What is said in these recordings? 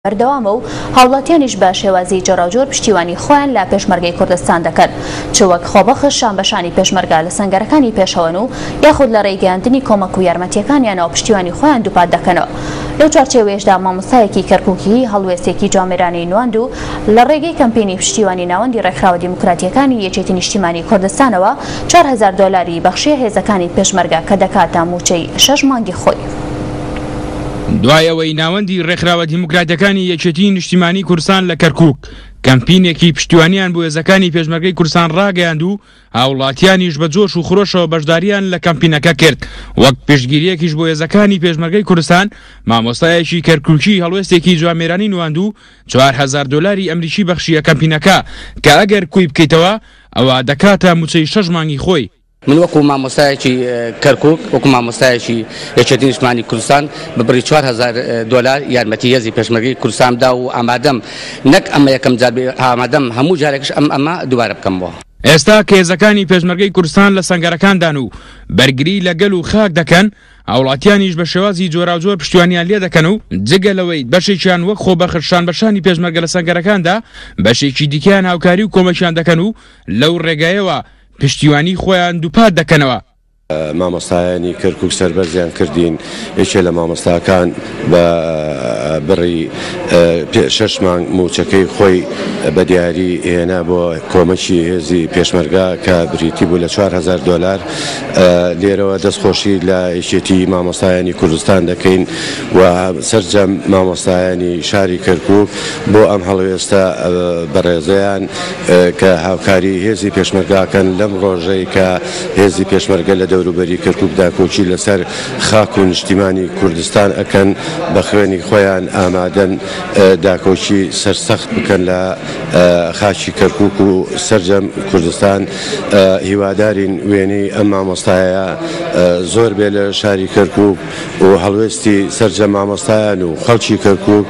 بەردەوامە و هاوڵاتیانیش بە شێوازی جۆراوجۆر پشتیوانی خۆیان لە پێشمەرگەی کوردستان دەکەن چ وەک خۆبەخش شانبەشانی پێشمەرگە لە سەنگەرەکانی پێشەوەن و یاخود لە ڕێی گەیاندنی کۆمەک و یارمەتیەکانیانەوە پشتیوانی خۆیان دووپات دەکەنەوە. لەو چوارچێوەیەشدا مامۆستایەکی کەرکوکی هەڵوێستێکی جوامێرانەی نواند و لە ڕێگەی کەمپینی پشتیوانی ناوەندی ڕێکخراوە دیموکراتیەکانی یەکێتی نیشتیمانی کوردستانەوە 4000 دۆلاری بەخشیە هێزەکانی پێشمەرگە کە دەکاتە مووچەی شەش مانگی خۆی. دوای ئەوەی ناوەندی ڕێکخراوە دیموکراتەکانی یەکێتیی نیشتیمانیی کوردستان لە کەرکووک کەمپینێکی پشتیوانیان بۆ هێزەکانی پێشمەرگەی کوردستان ڕاگەیاند و هاوڵاتیانیش بە جۆش و خرۆشەوە بەشداریان لە کەمپینەکە کرد وەک پشتگیریەکیش بۆ هێزەکانی پێشمەرگەی کوردستان مامۆستایەکی کەرکوکی هەڵوێستێکی جوامێرانی نواند و 4000 دۆلاری ئەمریکی بەخشیە کەمپینەکە کە ئەگەر کوی بکەیتەوە ئەوا دەکاتە موچەی شەش مانگی خۆی. من وەکو مامۆستایەکی کەرکوک، وەکو مامۆستایەکی یەکێتی نیشتمانی کوردستان بە بڕی 4000 دۆلار یارمەتی هێزی پێشمەرگەی کوردستان دا و ئامادەم نەک ئەمە یەکەم جار بێ، ئامادەم هەموو جارێکش ئەم ئەمە دووبارە بکەمەوە. ئێستا کە هێزەکانی پێشمەرگەی کوردستان لە سەنگەرەکاندان و بەرگری لە گەل و خاک دەکەن، هاوڵاتیانیش بە شێوازی جۆراوجۆر پشتیوانیان لێدەکەن و جگە لەوەی بەشێکیان وەک خۆبەخش شانبەشانی پێشمەرگە لە سەنگەرەکاندا، بەشێکی دیکەیان هاوکاری و کۆمەکیان دەکەن و لەو ڕێگایەوە پشتیوانی خۆیان دووپات دەکەنەوە. مامۆستایانی کەرکوک سەربەرزیان کردین، یەکێ لە مامۆستاکان بە بڕی شەش مانگ مووچەکەی خۆی بە دیاری هێنا بۆ کۆمەکی هێزی پێشمەرگە کە بریتی بوو لە 4000 دۆلار. لێرەوە دەستخۆشی لە یەکێتی مامۆستایانی کوردستان دەکەین و سەرجەم مامۆستایانی شاری کەرکوک بۆ ئەم هەڵوێستە بەڕێزەیان. کە هاوکاری هێزی پێشمەرگە ئەکەن لەم ڕۆژەی کە هێزی پێشمەرگە لە دەوروبەری کەرکوک داکۆکی لەسەر خاک و نیشتیمانی کوردستان ئەکەن بە خوێنی خۆیان ئامادەن داکۆکی سەرسەخت بکەن لە خاکی کەرکوک و سەرجەم کوردستان هیوادارین وێنەی ئەم مامۆستایە زۆر بێ لە شاری کەرکوک و هەڵوێستی سەرجەم مامۆستایان و خەڵکی کەرکوک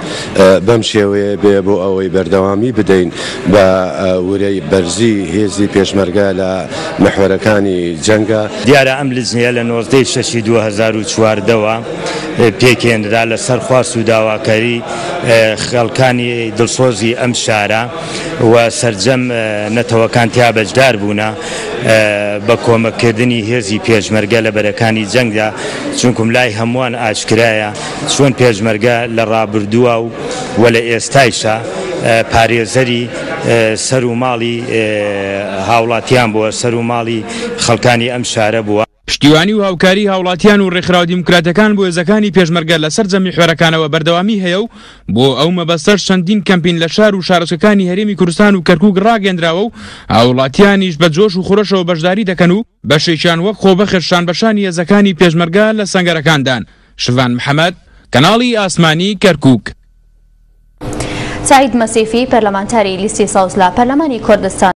بەم شێوەیە بێ بۆ ئەوەی بەردەوامی بدەین بە ورەی بەرزی هێزی پێشمەرگە لە محوەرەکانی جەنگا. دیارە ئەم لجنەیە لە 19 ی شەشی 2014 وە پێکهێنرا لە سەر خواست و داواکاری خەڵکانی دڵسۆزی ئەم شارە و سەرجەم نەتەوەکان تیا بەشدار بوونە بە کۆمەک کردنی هێزی پێشمەرگە لە بەرەکانی جەنگدا چونکم لای هەمووان ئاشکرایە چۆن پێشمەرگە لە ڕابردووە و و لە ئێستایشا پارێزەری سەر و ماڵی هاوڵاتیان بووە، سەر و ماڵی خەڵکانی ئەم شارە بووە. پشتیوانی و هاوکاری هاوڵاتیان و ڕێکخراوە دیموکراتیەکان بۆ هێزەکانی پێشمەرگە لە سەرجەم میحوەرەکانەوە بەردەوامی هەیە و بۆ ئەو مەبەستەش چەندین کەمپین لە شار و شارۆچکەکانی هەرێمی کوردستان و کەرکوک ڕاگەیەندراوە و هاوڵاتیانیش بە جۆش و خرۆشەوە بەشداری دەکەن و بەشێکیان وەک خۆبەخش شانبەشانی هێزەکانی پێشمەرگە لە سەنگەرەکاندان. شڤان محەمەد، کەناڵی ئاسمانی کەرکوک. سەعید مەسیفی، پەرلەمانتاری لیستی سەوز لە پەرلەمانی کوردستان.